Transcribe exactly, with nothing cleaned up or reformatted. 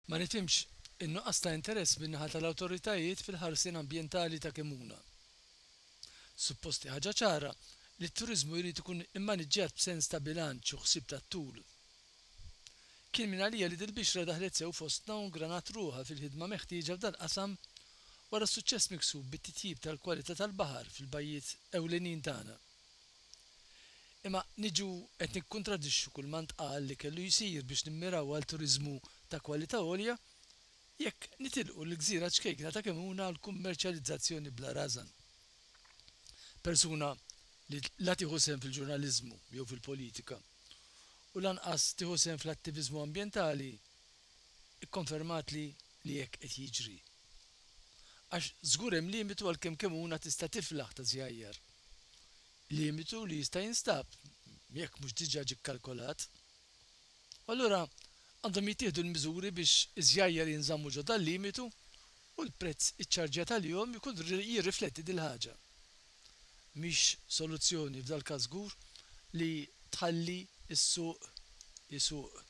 Ma nifhimx in-nuqqas ta' interess min-naħa tal-awtoritajiet fil-ħarsien ambjentali ta' Kemmuna. Suppost hi ħaġa ċara li t-turiżmu jrid ikun immaniġġjat b'sens ta' bilanċ u ħsieb tat-tul. Kien mingħalija li dil-bixra daħlet sew fostna u ngranat ruħha fil-ħidma meħtieġa f'dal-qasam wara s-suċċess miksub bit-titjib tal-kwalità tal-baħar fil-bajjiet ewlenin tagħna. Imma niġu qed nikkuntradixxu kull ma ntqal li kellu jsir biex nimmiraw għal turiżmu ta' kwalità għolja jekk nitilqu l-gżira ċkejkna ta' Kemmuna għal kummerċjalizzazzjoni bla rażan. Persuna li la tieħu sehem fil-ġurnaliżmu jew fil-politika u lanqas tieħu sehem fl-attiviżmu ambjentali ikkonfermatli li hekk qed jiġri. Għax żgur hemm limitu għal kemm Kemmuna tista' tiflaħ ta' żjajjar. Limitu li jista' jinstab jekk mhux diġà ġie kkalkolat. U allura għandhom jittieħdu l-miżuri biex iż-żjajjar jinżammu ġo dal-limitu u l-prezz iċċarġjat għalihom ikun jirrifletti dil-ħaġa. Mhix soluzzjoni f'dal-każ żgur li tħalli s-suq isuq.